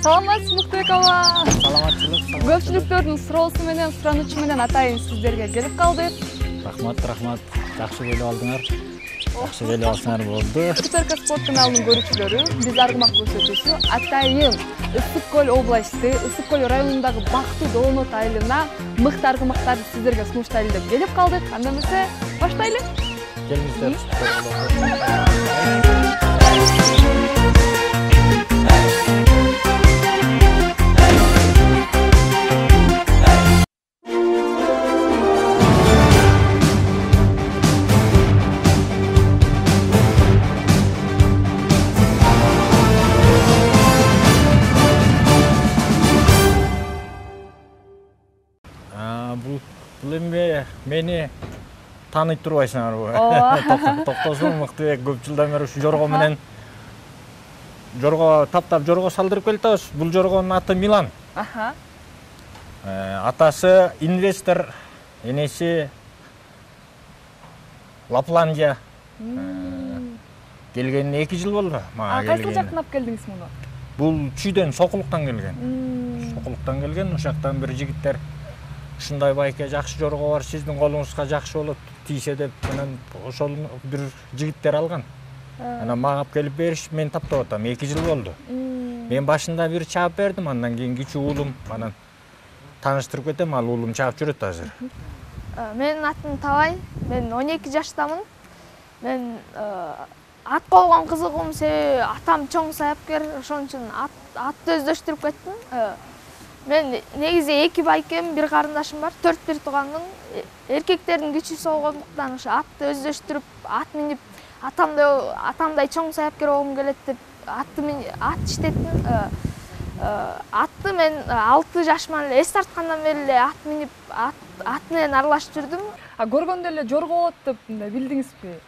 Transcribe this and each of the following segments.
Саламатсыз Муктубек аба. Саламатчылык. Көпчүлүктөрдүн суроосу менен, суранычы менен атайын сиздерге келип калдык. Рахмат. Жакшы келип алдыңар. Жакшы келип алсаңар болду. ТРК спорт каналынын көрүүчүлөрү, биз Аргымак көрсөтүүсү атайын Ысык Көл областы, Ысык Көл районундагы Бактуу Доонот айылына мыкты аргымактарды сиздерге сунуштайлы деп келип калдык. Анда эмесе, баштайлы. Келиңиздер. Бул эми мени тааныйт турбайсыңарбы? Токтосун Муктубек көп жылдан бери ушу жорго менен таптап жорго салдырып келатабыз. Бул жоргонун аты Милан. Атасы инвестор, энеси Лапландия. Келгенине 2 жыл болду. Кайсы жактан алып келдиңиз муну? Бул Чүйдөн, Сокулуктан келген. Ошоктон бир жигиттер ушундай байке жакшы жорго бар, сиздин колуңузга жакшы болот, тийсе деп менен ошол бир жигиттер алган. Анан мага алып келип бериш, мен таптап атам. 2 жыл болду. Мен башында бир чаап бердим, андан кийин кичүү уулум, анан тааныштырып кетем, ал уулум чаап жүрөт азыр. Менин атым Табай, мен 12 жаштамын. Мен ат койгон кызыгым себеби атам чоң саяпкер, ошон үчүн атты өздөштүрүп кеттим. Мен негизи 2 байкем, 1 карындашым бар, 4 туугандын. Эркектердин күчүсү болгондуктан ошо атты өздөштүрүп, ат минип, атамдай чоң саяпкер болгум келет деп ат иштеттим. Атты мен 6 жашыман эле, эс тарткандан бери эле ат минип, ат менен аралашып жүрдүм. Көргөндө эле жорго болот деп билдиңизби?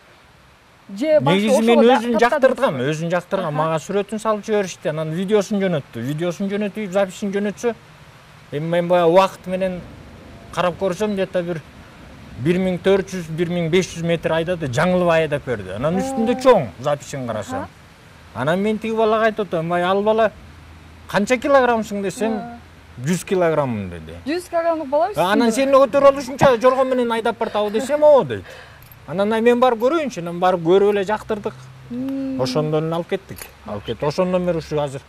Же негизи мен өзүн жактыргам, мага сүрөтүн салып жиберишти, анан видеосун жөнөтүп, записин жөнөтсө, эми мен баягы убакыт менен карап көрсөм, где-то бир 1400-1500 метр айдады, жаңылбай айдап берди. Анан үстүндө чоң записин карасам. Анан мен тиги балага айтып атам, ай ал бала канча килограммсың десем, 100 килограммын деди. 100 килограммдык бала үстүндө. Анан сени көтөрө алышынча жорго менен айдап бартабы десем, о дейт. Анан мен барып көрөйүнчү, анан барып көрүп эле жактырдык. Ошондон эле алып кеттик. Ошондон бери ушу азыр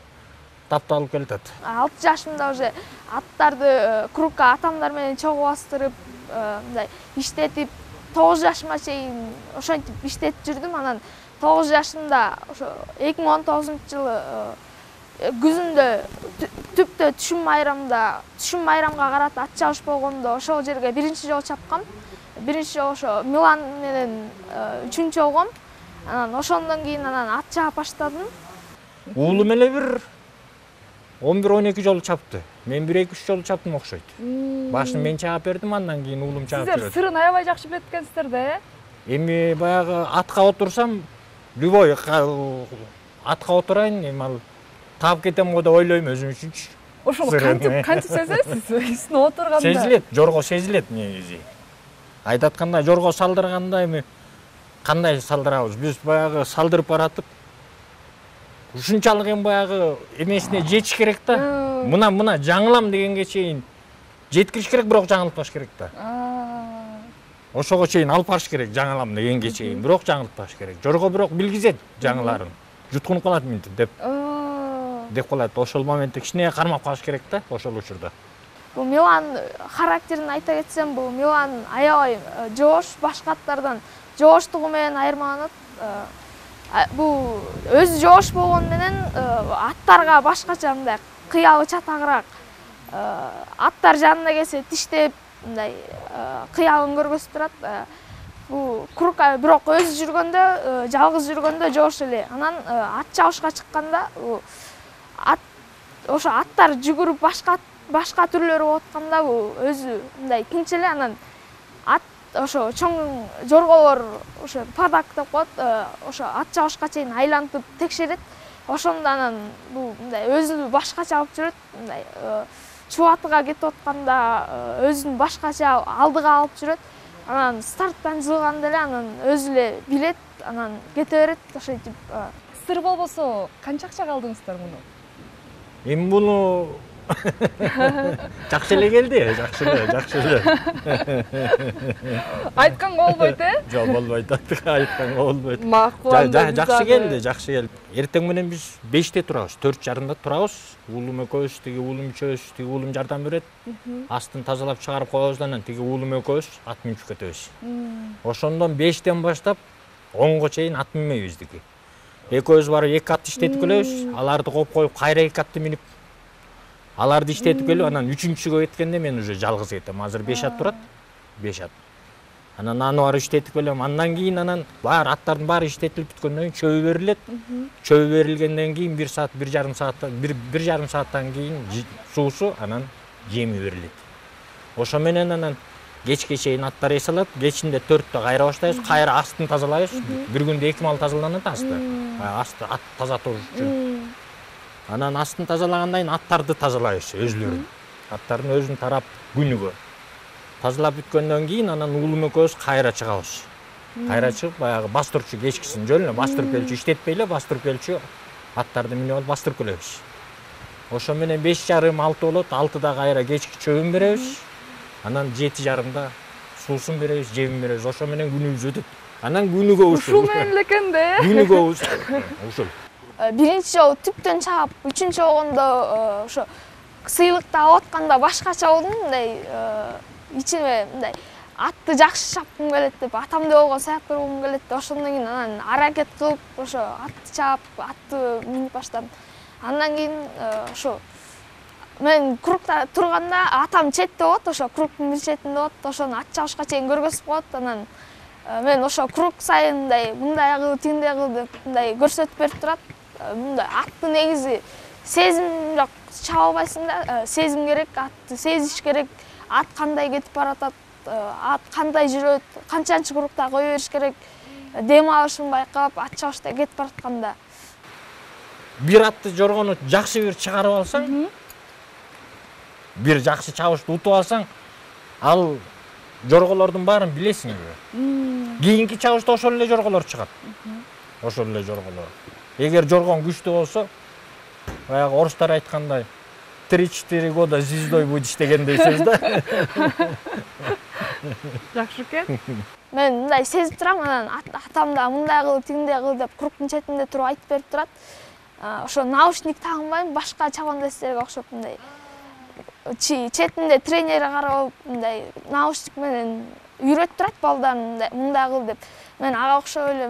тапталып келатат. 6 жашымда уже аттарды кругка атамдар менен чогуу бастырып, мындай иштетип, 9 жашыма чейин ошентип иштетип жүрдүм. Анан 9 жашымда ошо 2019-жылы күзүндө түптө түшүм майрамга карата ат чабыш болгондо ошол жерге 1-чи жолу чапкам. 1-чи жолу ошо Милан менен 3-чү болгом. Анан ошондон кийин ат чаап баштадым. Уулум эле бир 11-12 жолу чапты. Мен 1-2-3 жолу чаптым окшойт. Башын мен чаап бердим, андан кийин уулум чаап берди. Сиздер сырын аябай жакшы билет экенсиздер да, Эми баягы атка отурсам, любой атка отурайын, эми ал таап кетем го деп ойлойм өзүм үчүнчү. Ошону кантип сезесиз? Үстүнө отурганда. Сезилет, жорго сезилет негизи. Айдатканда, жорго салдырганда эми кандай салдырабыз? Биз баягы салдырып баратып, ушунчалык эми баягы эмесине жетиш керек да. Мына жаңылам дегенге чейин жеткириш керек, бирок жаңылтпаш керек да. Ошого чейин алып барыш керек, жаңылам дегенге чейин, бирок жаңылтпаш керек. Жорго бирок билгизет жаңыларын. Жуткунуп калат минтип деп калат. Ошол моментте кичине кармап калыш керек да, ошол учурда. Бул Милан характерин айта кетсем, бул Милан аябай жоош, башка аттардан жооштугу менен айырмаланат. Бул өзү жоош болгону менен аттарга башкача мындай кыялы чатагыраак. Аттар жанына келсе тиштеп, мындай кыялын көргөзүп турат. Бул кругка бирок өзү жүргөндө, жалгыз жүргөндө жоош эле. Анан ат чабышка чыкканда ошо аттар жүгүрүп башка түрлөрү болуп атканда бул өзү мындай тынч эле. Анан ат ошо чоң жорголор ошо падак деп коет, ошо ат чабышка чейин айлантып текшерет. Ошондо анан бул мындай өзү башкача алып жүрөт, мындай чубатыга кетип атканда өзүн башкача алдыга алып жүрөт. Анан старттан жылганда эле анан өзү эле билет, анан кете берет, ошентип. Сыр болбосо канча акчага алдыңыздар муну? Эми буну жакшы эле келди, жакшы эле. Айтканга болбойт, Жок, болбойт. Айтканга болбойт. Макул. Жакшы келди. Эртең менен биз 5те турабыз, 4:30 турабыз. Уулум экөөбүз, тиги уулум ичебиз, тиги уулум жардам берет. Астын тазалап чыгарып коебуз, анан тиги уулум экөөбүз ат минип кетебиз. Ошондон 5тен баштап 10го чейин ат минбейбиз дики. Экөөбүз барып 2 атты иштетип келебиз. Аларды коюп кайра 2 атты минип аларды иштетип келип, анан 3-күнгө кеткенде мен уже жалгыз кетем. Азыр 5 ат турат. 5 ат. Анан аны барып иштетип келем. Андан кийин аттардын баары иштетилип бүткөндөн кийин чөбү берилет. Чөбү берилгенден кийин 1 саат, 1,5 сааттан кийин суусу, анан жеми берилет. Ошо менен анан кечке чейин аттар эсалат. Кечинде 4тө кайра баштайбыз. Кайра астын тазалайбыз. Бир күндө 2 мал тазаланат асты. Асты ат таза туруш үчүн. Анан астын тазалагандан кийин аттарды тазалайбыз өзлөрүн. Аттардын өзүн тарап күнүгө. Тазалап бүткөндөн кийин анан уулум экөөбүз кайра чыгабыз. Кайра чыгып баягы бастырчу кечкисин жөн эле бастырып келчү иштетпей эле бастырып келчү аттарды минип алып бастырып келебиз. Ошо менен 5:30-6 болот. 6да кайра кечки чөбүн беребиз. Анан 7:30да суусун беребиз, жемин беребиз. Ошо менен күнүбүз өтөт. Анан күнүгө ушул. Ушул менен эле экен да. Күнүгө ушул. Биринчи жолу түптөн чаап, үчүнчү болгондо ошо сыйлыкты алып атканда башкача болдум, мындай ичиме мындай атты жакшы чапкым келет деп, атамды болгон саяккер болгум келет деп, ошондон кийин анан аракет кылып ошо атты чаап, атты минип баштадым. Андан кийин ошо мен кругта турганда атам четте болот, ошо кругтун бир четинде болот, ошону ат чабышка чейин көргөзүп коет. Анан мен ошо круг сайын мындай кыл, тиндей кыл деп мындай көрсөтүп берип турат. Мындай атты негизи сезим жок, чаба албайсың да, сезим керек, атты сезиш керек. Ат кандай кетип баратат, ат кандай жүрөт, канчанчы кругта кое бериш керек, дем алышын байкап, ат чабышта кетип баратканда. Бир атты жоргону жакшы бир чыгарып алсаң, бир жакшы чабышты утуп алсаң, ал жорголордун баарын билесиң. Кийинки чабышта ошол эле жорголор чыгат. Ошол эле жорголор. Эгер жоргон күчтүү болсо, баягы орустар айткандай 3-4 года звездой будешь дегендей сөз да. Жакшы экен. Мен мындай сезип турам, анан атам да мындай кыл, тиндей кыл деп кругтун четинде туруп айтып берип турат. Ошо наушник тагынбайм, башка чабандастарга окшоп мындай четинде тренери карап, мындай наушник менен үйрөтүп турат балдарын мындай кыл деп. Мен ага окшоп эле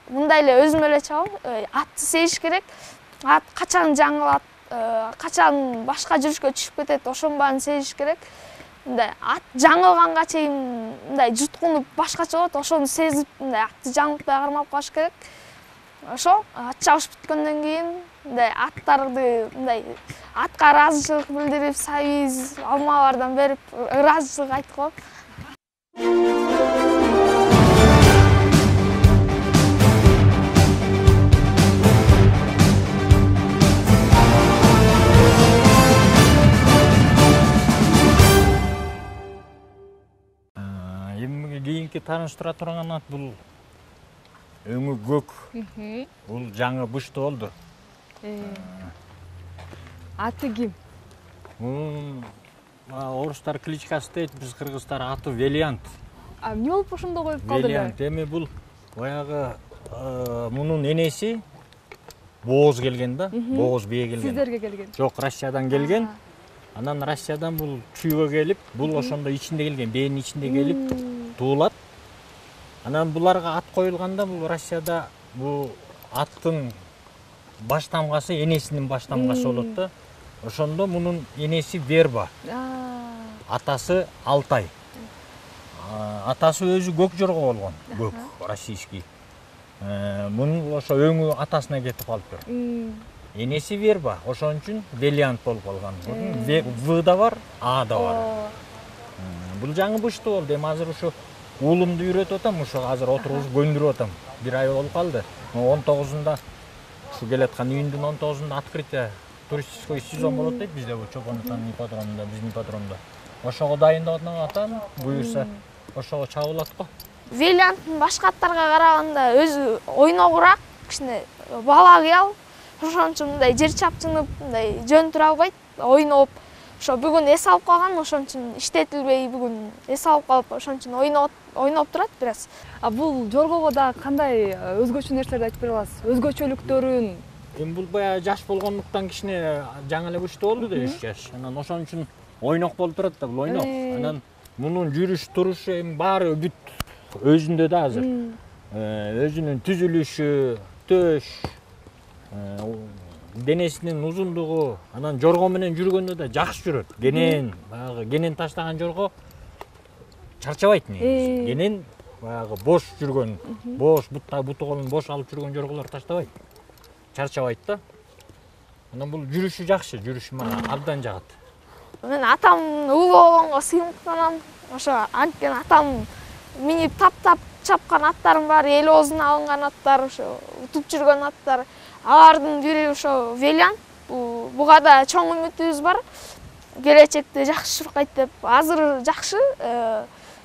мындай эле өзүм эле чабам. Атты сезиш керек. Ат качан жаңылат, качан башка жүрүшкө түшүп кетет, ошонун баарын сезиш керек. Мындай ат жаңылганга чейин мындай жуткунуп башкача болот, ошону сезип мындай атты жаңылтпай кармап калыш керек. Ошо ат чабыш бүткөндөн кийин мындай аттарды мындай атка ыраазычылык билдирип, сабиз, алмалардан берип ыраазычылык айтып коем. Кийинки тааныштыра турган ат бул өңү көк. Бул жаңы бышты болду. Аты ким? Орустар кличкасы дейт, биз кыргыздар аты Велиант. Эмне болуп ошондо коюп калды эле? Велиант эми бул баягы мунун энеси Бооз келген да, Бооз бие келген. Сиздерге келген? Жок, Россиядан келген. Анан Россиядан бул чүйгө келип, бул ошондо ичинде келген, бээнин ичинде келип туулат. Анан буларга ат коюлганда бул Россияда бул аттын баш тамгасы энесинин баш тамгасы болот да. Ошондо мунун энеси Верба. Атасы Алтай. Атасы өзү көк жорго болгон, көк, российский. Мунун ошо өңү атасына кетип калыптыр. Энеси Верба, ошон үчүн Велиант болуп калган. В да бар, А да бар. Бул жаңы бышты болду. Эми азыр ушу уулумду үйрөтүп атам, ушу азыр отургузуп көндүрүп атам. 1 ай болуп калды. 19-ында ушу келаткан июндун 19-ында открытие туристический сезон болот дейт бизде, бул Чопон атанын ипподромунда, биздин ипподромдо. Ошого дайындап атам, буюрса ошого чабылат го. Велианттын башка аттарга караганда өзү ойногураак, кичине бала кыял, ошон үчүн мындай жер чапчынып мындай жөн тура албайт, ойноп. Ошо бүгүн эс алып калган, ошон үчүн иштетилбей бүгүн эс алып калып, ошон үчүн ойноп турат бир аз. А бул жоргого да кандай өзгөчө нерселерди айтып бере аласыз? Өзгөчөлүктөрүн? Эми бул баягы жаш болгондуктан кичине жаңы эле күчтүү болду да 3 жаш. Анан ошон үчүн ойнок болуп турат да, бул ойнок. Анан мунун жүрүш турушу эми баары бүт өзүндө да азыр. Өзүнүн түзүлүшү, төш, денесинин узундугу, анан жорго менен жүргөндө да жакшы жүрөт. Кенен, баягы кенен таштаган жорго чарчабайт негизи. Кенен баягы бош жүргөн, бош буту колун бош алып жүргөн жорголор таштабайт. Чарчабайт да. Анан бул жүрүшү жакшы, жүрүшү мага абдан жагат. Мен атам улуу болгонго сыймыктанам. Ошо анткени атам минип таптап чапкан аттардын баары эл оозуна алынган аттар, ошо утуп жүргөн аттар. Алардын бири ошо Велян. Буга да чоң үмүтүбүз бар. Келечекте жакшы чуркайт деп. Азыр жакшы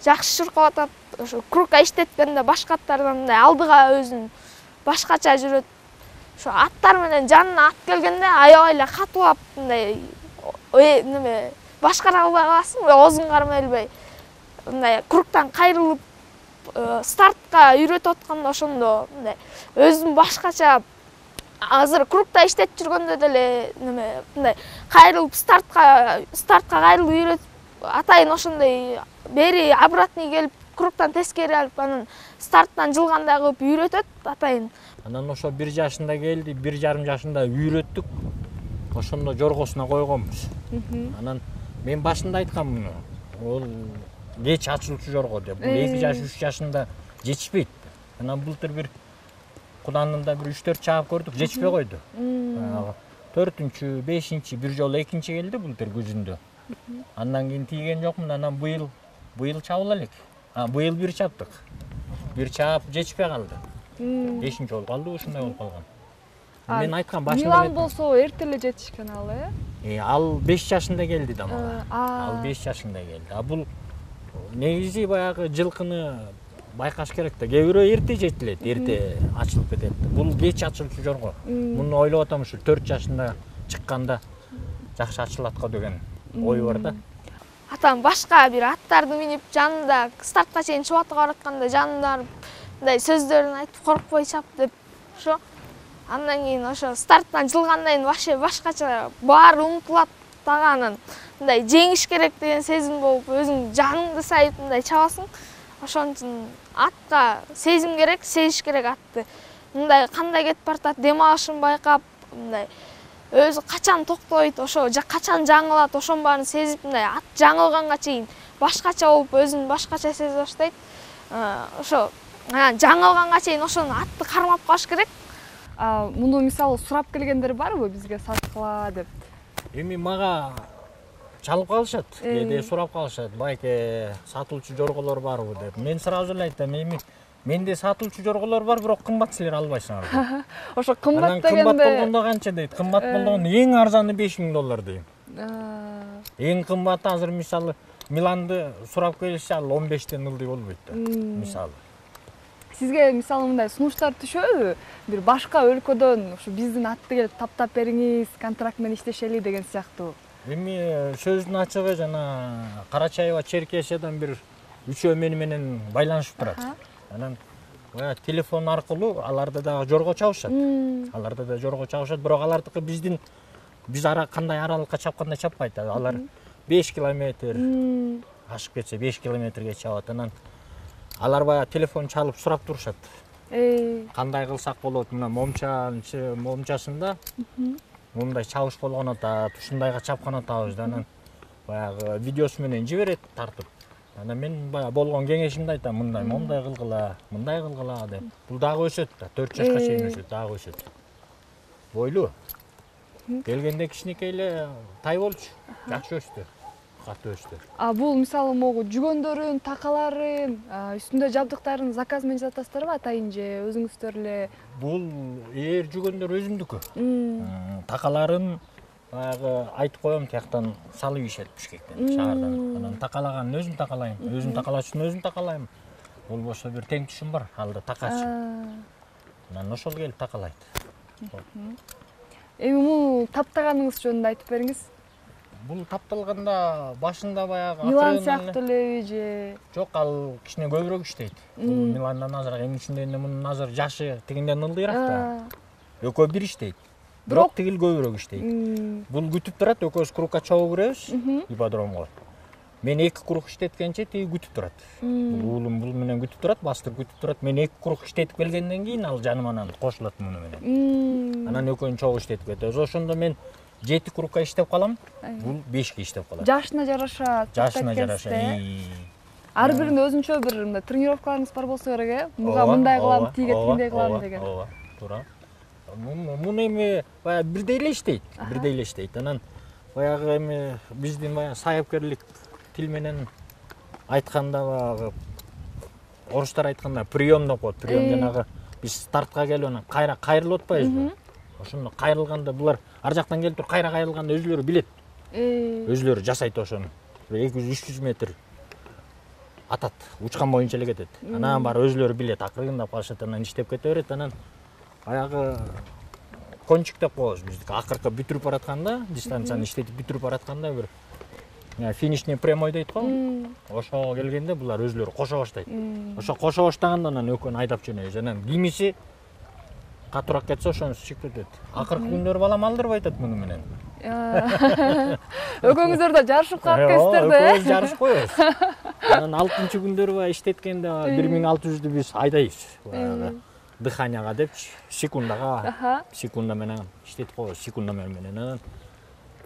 чуркап атат. Ошо крукка иштеткенде башка аттардан мындай алдыга өзүн башкача жүрөт. Ошо аттар менен жанына ат келгенде аябай эле катуулап мындай неме башкара албай каласың, оозуң кармай элбей. Мындай круктан кайрылып стартка үйрөтүп атканда ошондо мындай өзүн башкача азыр крукта иштетип жүргөндө деле неме мындай кайрылып стартка кайрылып үйрөтүп атайын ошондой бери обратный келип круктан тескери алып анан старттан жылгандай кылып үйрөтөт атайын. Анан ошо 1 жашында келди, 1,5 жашында үйрөттүк. Ошондо жоргосуна койгонбуз. Анан мен башында айткам муну. Ол кеч ачылчу жорго деп. 2 жаш, 3 жашында жетишпейт. Анан былтыр бир Куданында бир 3-4 чаап көрдүк, жетишпей койду. 4-чү, 5-чи бир жолу 2-чи келди былтыр күзүндө. Андан кийин тийген жокмун. Анан быйыл чабыла элек. Быйыл бир чаптык. Бир чаап жетишпей калды. 5-чи болуп калды, ушундай болуп калган. Мен айткам башында. Милан болсо эрте эле жетишкен ал, Ал 5 жашында келди да мага. Ал 5 жашында келди. Бул негизи баягы жылкыны байкаш керек да. Кээ бирөө эрте жетилет, эрте ачылып кетет. Бул кеч ачылчу жорго. Муну ойлоп атам, ушу 4 жашында чыкканда жакшы ачылат го деген ой бар да. Атам башка бир аттарды минип жанында стартка чейин чубатып баратканда жанында мындай сөздөрүн айтып коркпой чап деп ошо. Андан кийин ошо старттан жылгандан кийин вообще башкача баары унутулат дагы анан мындай жеңиш керек деген сезим болуп өзүң жаныңды сайып мындай чабасың. Ошон үчүн атка сезим керек, сезиш керек атты. Мындай кандай кетип баратат, дем алышын байкап, мындай өзү качан токтойт, ошо качан жаңылат, ошонун баарын сезип, мындай ат жаңылганга чейин башкача болуп, өзүн башкача сезе баштайт. Ошо жаңылганга чейин ошону атты кармап калыш керек. Муну мисалы сурап келгендер барбы бизге саткыла деп? Эми мага чалып калышат, кээде сурап калышат, байке сатылчу жорголор барбы деп. Мен сразу эле айтам, эми менде сатылчу жорголор бар, бирок кымбат силер албайсыңар. Ошо кымбат дегенде кымбат болгондо канча дейт? Кымбат болгондо эң арзаны $5000 дейм. Эң кымбаты азыр мисалы Миланды сурап келишсе ал 15-тен ылдый болбойт да. Мисалы. Сизге мисалы мындай сунуштар түшөбү? Бир башка өлкөдөн ушу биздин атты келип таптап бериңиз, контракт менен иштешели деген сыяктуу. Эми сөздүн ачыгы жана Карачаева Черкесиядан бир үчөө менен байланышып турат. Анан телефон аркылуу аларда дагы жорго чабышат. Бирок алардыкы биз кандай аралыкка чапкандай чаппайт. Алар 5 километр ашып кетсе 5 километрге чабат. Анан алар баягы телефон чалып сурап турушат. Кандай кылсак болот? Мына момчасында мындай чабыш болгон атат, ушундайга чапкан атабыз да. Анан баягы видеосу менен жиберет тартып. Анан мен баягы болгон кеңешимди айтам, мындай кылгыла деп. Бул дагы өсөт да, 4 жашка чейин өсөт, дагы өсөт. Бойлуу. Келгенде кичинекей эле тай болчу, жакшы өстү. Катуу өстү. Бул мисалы могу жүгөндөрүн, такаларын, үстүндө жабдыктарын заказ менен жасатасыздарбы атайын же өзүңүздөр эле? Бул жүгөндөр өзүмдүкү. Такаларын баягы айтып коем, тияктан салып ийишет Бишкектен, шаардан. Анан такалаганын өзүм такалайм, өзүм такалачын өзүм такалайм. Болбосо бир тең түшүм бар, алда такачы. Анан ошол келип такалайт. Эми муну таптаганыңыз жөнүндө айтып бериңиз. Бул тапталганда башында баягы Милан сыяктуу элеби же? Жок, ал кичине көбүрөөк иштейт. Бул Миландан азыраак, эми ичинде мунун азыр жашы тигинден ылдыйраак да. Экөө бир иштейт. Бирок тигил көбүрөөк иштейт. Бул күтүп турат, экөөбүз курукка чогуу киребиз ипподромго. Мен 2 курук иштеткенче тиги күтүп турат. Уулум бул менен күтүп турат, бастырып күтүп турат. Мен 2 курук иштетип келгенден кийин ал жаныман кошулат муну менен. Анан экөөнү чогуу иштетип кетебиз. Ошондо мен 7 курукка иштеп калам, бул 5ке иштеп калат. Жашына жараша. Жашына жараша. Ар биринде өзүнчө бир мындай тренировкаларыңыз бар болсо керек, э? Буга мындай кылам, тиге тиндей кылам деген. Ооба, туура. Муну эми баягы бирдей эле иштейт, бирдей эле иштейт. Анан баягы эми биздин баягы саяпкерлик тил менен айтканда баягы орустар айтканда прием деп коет. Прием жанагы биз стартка келип анан кайра кайрылып атпайбызбы? Ошондо кайрылганда булар ар жактан келип туруп кайра кайрылганда өзүлөрү билет. Өзүлөрү жасайт ошону. 200-300 метр атат, учкан боюнча эле кетет. Анан баары өзүлөрү билет, акырындап калышат, анан иштеп кете берет. Анан баягы кончик деп коебуз биздики. Акыркы бүтүрүп баратканда, дистанцияны иштетип бүтүрүп баратканда бир финишный прямой дейт го. Ошого келгенде булар өзүлөрү кошо баштайт. Ошо кошо баштаганда анан экөөнү айдап жөнөйбүз. Анан кимиси катуураак кетсе ошонусу чыгып кетет. Акыркы күндөрү балам алдырбай атат муну менен. Экөөңүздөр да жарышып калып кетсиздер да, экөөбүз жарышып коебуз. Анан 6-чы күндөрү баягы иштеткенде 1600'дү биз айдайбыз. Баягы дыханияга депчи, секунда менен иштетип коебуз, секунда менен. Анан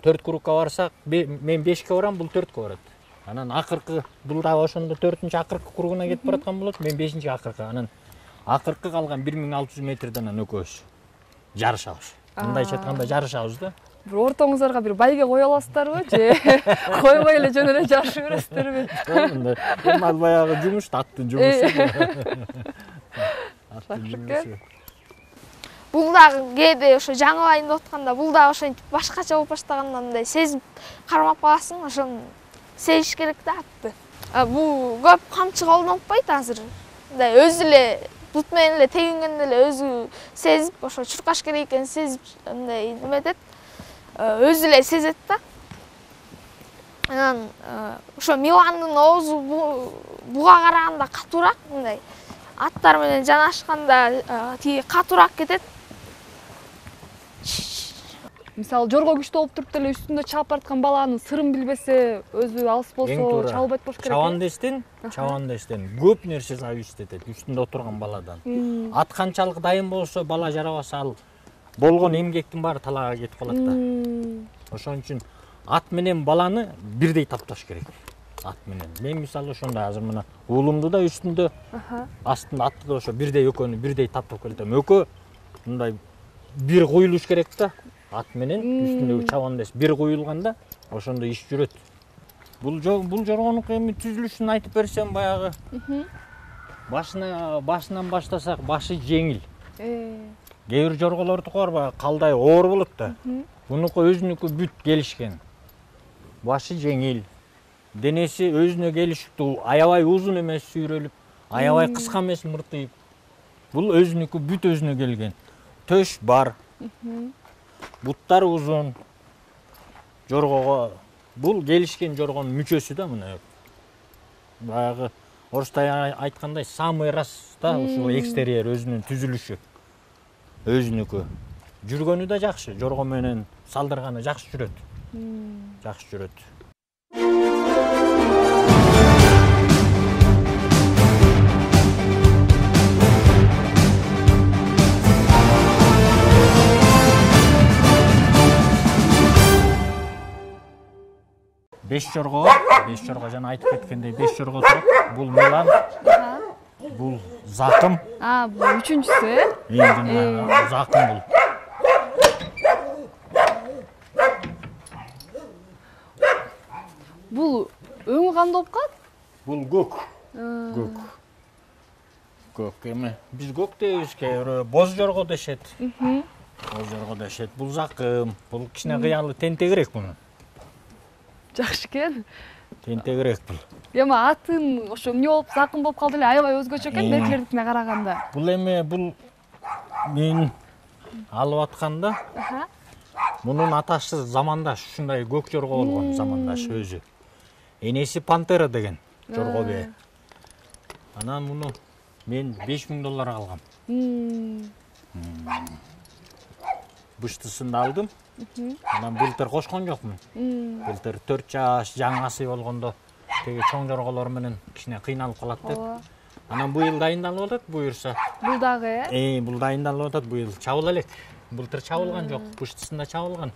4 курукка барсак, мен 5ке барам, бул 4ке барат. Анан акыркы бул дагы ошондо 4-чү акыркы куругуна кетип бараткан болот, мен 5-чи акыркы. Анан акыркы калган 1600 метрден анан экөөбүз жарышабыз. Мындайча айтканда жарышабыз да. Бир ортоңуздарга бир байге кое аласыздарбы же койбой эле жөн эле жарышып бересиздерби? Эми ал баягы жумуш, аттын жумушу. Бул дагы кээде ошо жаңылайын деп атканда бул дагы ошентип башкача болуп баштаганда мындай сезип кармап каласың, ошону сезиш керек да атты. Бул көп камчы колдонбойт азыр. Мындай өзү эле бут менен эле тегингенде эле өзү сезип, ошо чуркаш керек экенин сезип мындай неметет. Өзү эле сезет да. Анан ошо Миландын оозу буга караганда катуураак, мындай аттар менен жанашканда тиги катуураак кетет. Мисалы жорго күчтүү болуп туруп деле үстүндө чаап бараткан баланын сырын билбесе, өзү алыс болсо чабылбайт болуш керек. Чабандештен көп нерсе зависит этет үстүндө отурган баладан. Ат канчалык дайын болсо, бала жарабаса, ал болгон эмгектин баары талаага кетип калат да. Ошон үчүн ат менен баланы бирдей тапташ керек. Ат менен. Мен мисалы ошондой азыр мына уулумду да үстүндө, астында атты да ошо бирдей экөөнү бирдей таптап келатам. Экөө мындай бир куюлуш керек да. Ат менен үстүндөгү чабандеш бир куюлганда ошондо иш жүрөт. Бул жоргонук эми түзүлүшүн айтып берсем, баягы башынан баштасак, башы жеңил. Кээ бир жорголордуку бар, баягы калдай оор болот да. Бунуку өзүнүкү бүт келишкен. Башы жеңил. Денеси өзүнө келиштүү, аябай узун эмес сүйрөлүп, аябай кыска эмес мыртыйып. Бул өзүнүкү бүт өзүнө келген. Төш бар. Буттар узун. Жоргого бул келишкен жоргонун мүчөсү да мына. Баягы орустай айткандай самый раз да, ушул экстерьер өзүнүн түзүлүшү. Өзүнүкү. Жүргөнү да жакшы, жорго менен салдырганы жакшы жүрөт. Жакшы жүрөт. Беш жорго жана айтып кеткендей 5 жорго турат. Бул Милан. Бул Закым. Бул үчүнчүсү, э? Закым бул. Бул өңү кандай болуп калат? Бул көк. Көк эми биз көк дейбиз, кээ бирөө боз жорго дешет. Боз жорго дешет. Бул Закым. Бул кичине кыялы тентегирээк муну. Жакшы экен. Тентегирээк бул. Эми атын ошо эмне болуп Закым болуп калды эле, аябай өзгөчө экен беркилердикине караганда. Бул эми мен алып атканда Мунун атасы замандаш ушундай көк жорго болгон, замандаш өзү. Энеси Пантера деген жорго бээ. Анан муну мен $5000 алгам. Быштысын алдым. Анан былтыр кошкон жокмун. Былтыр 4 жаш жаңасы болгондо теги чоң жорголор менен кичине кыйналып калат деп. Анан быйыл дайындалып атат, буюрса. Бул дагы Бул дайындалып атат, быйыл чабыла элек. Былтыр чабылган жок, быштысында чабылган.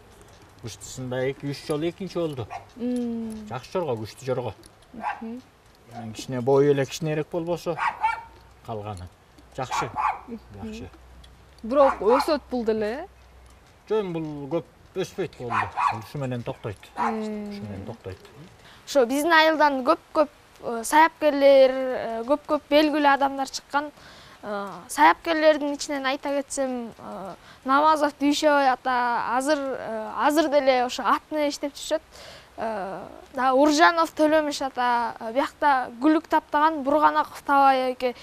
Быштысында 2-3 жолу экинчи болду. Жакшы жорго, күчтүү жорго. Кичине бою эле кичинерээк болбосо калганы. Жакшы. Жакшы. бирок өсөт бул деле. Жөн бул көп өспөйт болду. Ушу менен токтойт. Ушу менен токтойт. Ошо биздин айылдан көп саяпкерлер, көп белгилүү адамдар чыккан. Саяпкерлердин ичинен айта кетсем, Намазов Дүйшөбай ата азыр деле ошо атны иштеп жүрөт. Да Уржанов Төлөмүш ата, биякта Гүлүк таптаган Бурганаков Табай эке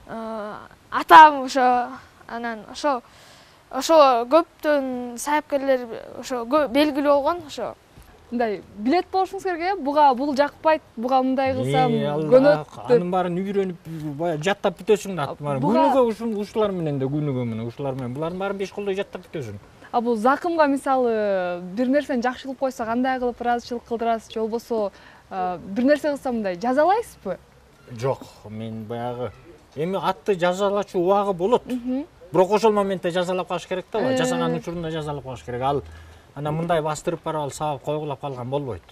атам ошо. Анан ошо көптөн саяпкерлер ошо белгилүү болгон ошо. Мындай билет болушуңуз керек, бул жакпайт, буга мындай кылсам көнөт. Анын баарын үйрөнүп, бая жаттап бүтөсүң да аттын баарын. Күнүгө ушулар менен да күнүгө менен ушулар менен булардын баарын 5 колдой жаттап бүтөсүң. А бул закымга мисалы бир нерсени жакшы кылып койсо кандай кылып ыраазычылык кылдырасыз, же болбосо бир нерсе кылса мындай жазалайсызбы? Жок, мен баягы эми атты жазалачу убагы болот. Бирок ошол моментте жазалап калыш керек да, жасаган учурунда жазалап калыш керек. Ал анан мындай бастырып барып сабап койгулап калган болбойт.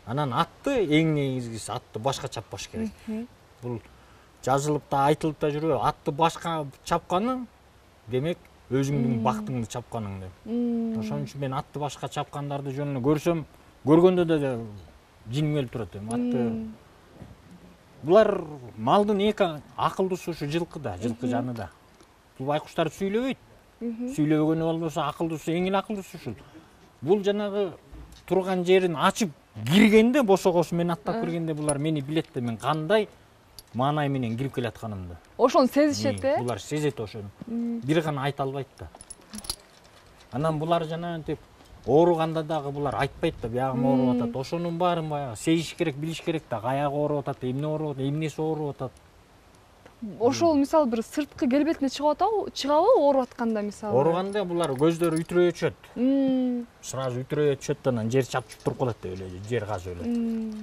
Анан атты эң негизгиси атты башка чаппаш керек. Бул жазылып да айтылып да жүрөбү. Атты башка чапканың демек өзүңдүн бактыңды чапканың деп. Ошон үчүн мен атты башка чапкандарды жөнүнө көрсөм, көргөндө да жиниң өлүп турат эми. Атты булар малдын эки акылдуусу ушу жылкы да, жылкы жаны да. Бул байкуштар сүйлөбөйт. Сүйлөбөгөнү болбосо акылдуусу, эң эле акылдуусу ушул. Бул жанагы турган жерин ачып киргенде, босогосу менен аттап киргенде булар мени билет да, мен кандай маанай менен кирип келатканымды. Ошону сезишет, Булар сезет ошону. Бир гана айта албайт да. Анан булар жанагынтип ооруганда дагы булар айтпайт да, биягым ооруп атат. Ошонун баарын баягы сезиш керек, билиш керек да. Аягы ооруп атат, эмне ооруп атат, эмнеси ооруп атат. Ошол мисалы бир сырткы келбетине чыгабы ооруп атканда мисалы? Ооруганда булар көздөрү үйтүрөйө түшөт. Сразу үйтүрөйө түшөт, анан жер чапчып туруп калат деп эле, жер казып эле.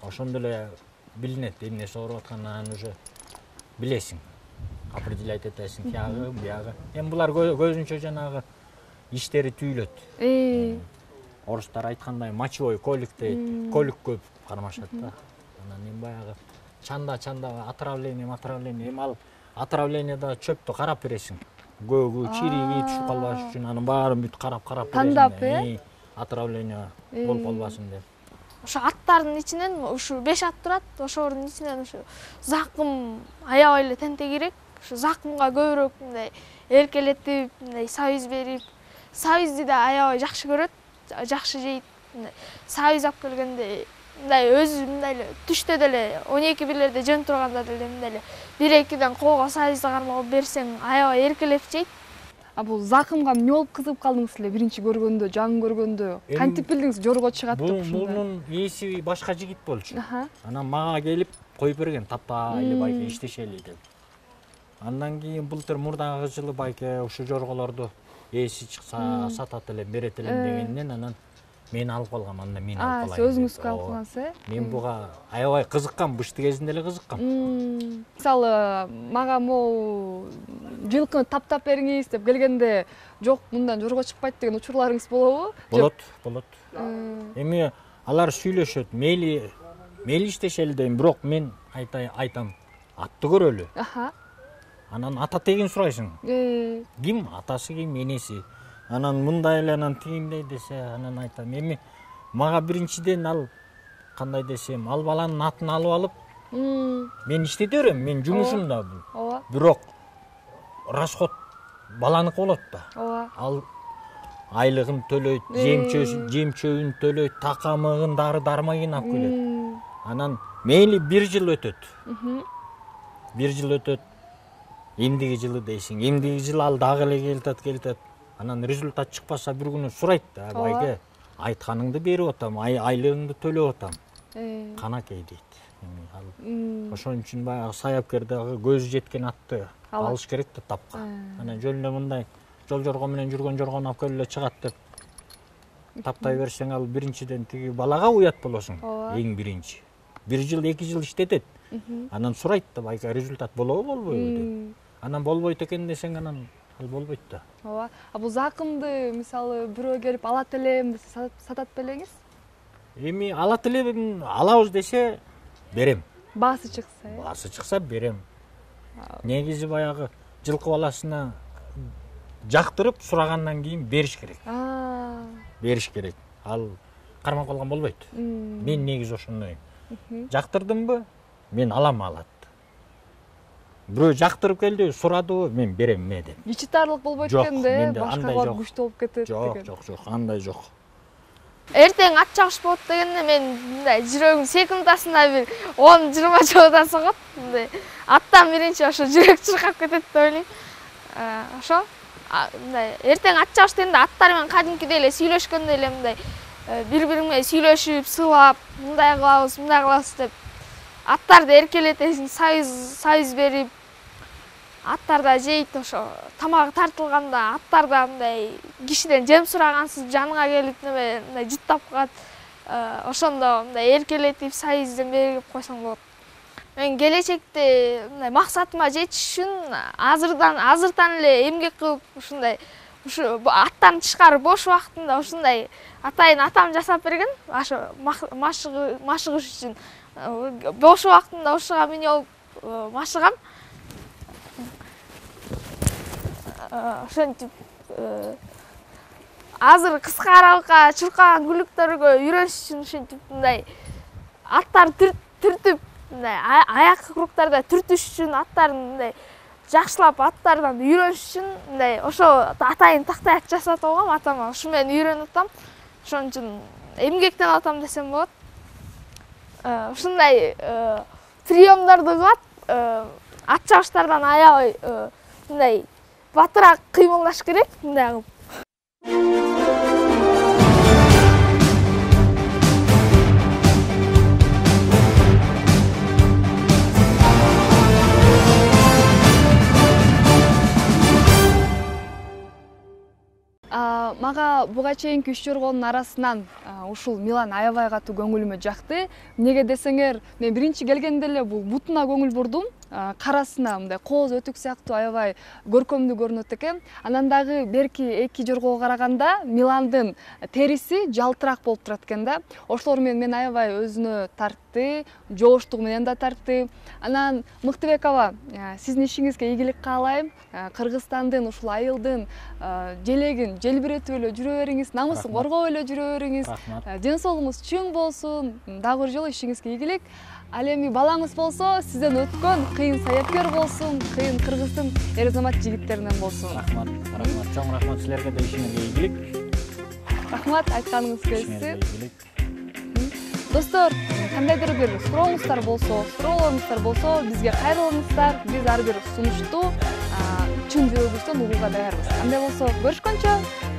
Ошондо эле билинет эмнеси ооруп атканын, уже билесиң. Определять этесиң, биягы. Эми булар көзүнчө жанагы иштери түйүлөт. Орустар айткандай мочевой колик дейт. Колик көп кармашат да. Анан эми баягы чанда отравление. Эми ал отравлениеда чөптү карап бересиң. Көөгү, чириги түшүп калбаш үчүн анын баарын бүт карап бересиң. Тандап, отравление болуп калбасын деп. Ошо аттардын ичинен ушу 5 ат турат. Ошолордун ичинен ушу закым аябай эле тентегирээк. Ушу закымга көбүрөөк мындай эркелетип, мындай сабиз берип, сабизди да аябай жакшы көрөт, жакшы жейт. Сабиз алып келгенде мындай өзү мындай эле түштө деле 12-1лерде жөн турганда деле мындай эле 1-2ден колго сабизди кармалып берсең аябай эркелеп жейт. А бул закымга эмне болуп кызыгып калдыңыз эле биринчи көргөндө, жаңы көргөндө? Кантип билдиңиз жорго чыгат деп ушунда? Мунун ээси башка жигит болчу. Анан мага келип коюп берген, таппайлы байке иштешели деп. Андан кийин былтыр мурдагы жылы байке ушу жорголорду ээси чыкса сатат элем, берет элем дегенден анан мен алып калгам, анда мен алып калайын. Сиз өзүңүзгө алып калгансыз, Мен буга аябай кызыккам, бышты кезинде эле кызыккам. Мисалы, мага могу жылкыны таптап бериңиз деп келгенде, жок, мындан жорго чыкпайт деген учурларыңыз болобу? Болот. Эми алар сүйлөшөт, мейли иштешели дейм, бирок мен айтам, атты көрөлү. Анан ата тегин сурайсың. Ким атасы, ким энеси. Анан мындай эле, анан тигиндей десе, анан айтам. Эми мага биринчиден ал кандай десем, ал баланын атын алып алып, мен иштете берем, мен жумушум да бул. Бирок расход баланыкы болот да. Ал айлыгын төлөйт, жем-чөбүн төлөйт, такамыгын, дары-дармагын алып келет. Анан мейли 1 жыл өтөт. 1 жыл өтөт. Эмдиги жылы дейсиң. Эмдиги жылы ал дагы эле келтет. Анан результат чыкпаса бир күнү сурайт да, байке, айтканыңды берип атам, айлыгыңды төлөп атам. Канакей дейт. Ошон үчүн баягы саяпкер дагы көзү жеткен атты алыш керек да тапка. Анан жөнүндө мындай жол жорго менен жүргөн жоргону алып келип эле чыгат деп таптай берсең, ал биринчиден тиги балага уят болосуң. Эң биринчи. 1 жыл, 2 жыл иштетет. Анан сурайт да, байка результат болобу, болбойбу деп. Анан болбойт экен десең, анан ал болбойт да. Ооба. Бул закымды мисалы бирөө келип алат элем десе сатат белеңиз? Эми алат элем, алабыз десе берем. Баасы чыкса. Баасы чыкса берем. Негизи баягы жылкы баласына жактырып сурагандан кийин бериш керек. Бериш керек. Ал кармап калган болбойт. Мен негизи ошондой. Жактырдымбы, мен алам алат. Бирөө жактырып келди, сурадыбы, мен берем ме деп. Ичитарлык болбойт экенде, башкалар күчтүү болуп кетет деген. Жок, андай жок. Эртең ат чабыш болот дегенде мен мындай жүрөгүм секундасында бир 10-20 жолдон согот. Мындай аттан биринчи ошо жүрөк чыркап кетет деп ойлойм. Ошо мындай эртең ат чабыш дегенде аттар менен кадимкидей эле сүйлөшкөндөй эле мындай бири-бири менен сүйлөшүп, сыйлап, мындай кылабыз деп аттарды эркелетесиң, союз берип, аттар да жейт, ошо тамагы тартылганда аттар да мындай кишиден жем сурагансыз жаныңа келип мындай жыттап калат. Ошондо мындай эркелетип, союзден берип койсоң болот. Мен келечекте мындай максатыма жетиш үчүн азыртан эле эмгек кылып, ушундай аттан тышкары бош убактында ушундай атайын атам жасап берген, ошо машыгыш үчүн. Бош убактында ушуга минип алып машыгам. Ошентип азыр кыска аралыкка чуркаган күлүктөргө үйрөнүш үчүн ушинтип мындай аттар түртүп, мындай аяк кругтарда түртүш үчүн, аттарын мындай жакшылап аттардан үйрөнүш үчүн мындай ошо атайын тактаяк жасатып алгам атама. Ушу менен үйрөнүп атам. Ошон үчүн эмгектен атам десем болот. Ушундай приемдорду кылат. Ат чабыштардан аябай мындай батыраак кыймылдаш керек, мындай кылып. Мага буга чейинки 3 жоргонун арасынан ушул Милан аябай катуу көңүлүмө жакты. Эмнеге десеңер, мен биринчи келгенде эле бул бутуна көңүл бурдум. Карасына мындай кооз өтүк сыяктуу аябай көркөмдүү көрүнөт экен. Анан дагы берки 2 жоргого караганда Миландын териси жалтыраак болуп турат экен да. Ошолор менен мен аябай өзүнө тартты, жооштугу менен да тартты. Анан Мыктыбек аба, сиздин ишиңизге ийгилик каалайм. Кыргызстандын ушул айылдын желегин желбиретип эле жүрө бериңиз, намысын коргоп эле жүрө бериңиз. Ден соолугуңуз чың болсун. Дагы бир жолу ишиңизге ийгилик. Ал эми балаңыз болсо, сизден өткөн кыйын саяпкер болсун, кыйын Кыргыздын эр азамат жигиттеринен болсун. Рахмат. Чоң рахмат силерге да, ишиңерге ийгилик. Рахмат, айтканыңыз келишти. Достор, кандайдыр бир суроолоруңуздар болсо, бизге кайрылыңыздар. Биз ар бир сунушту чын жүрөгүбүздөн угууга даярбыз. Андай болсо, көрүшкөнчө.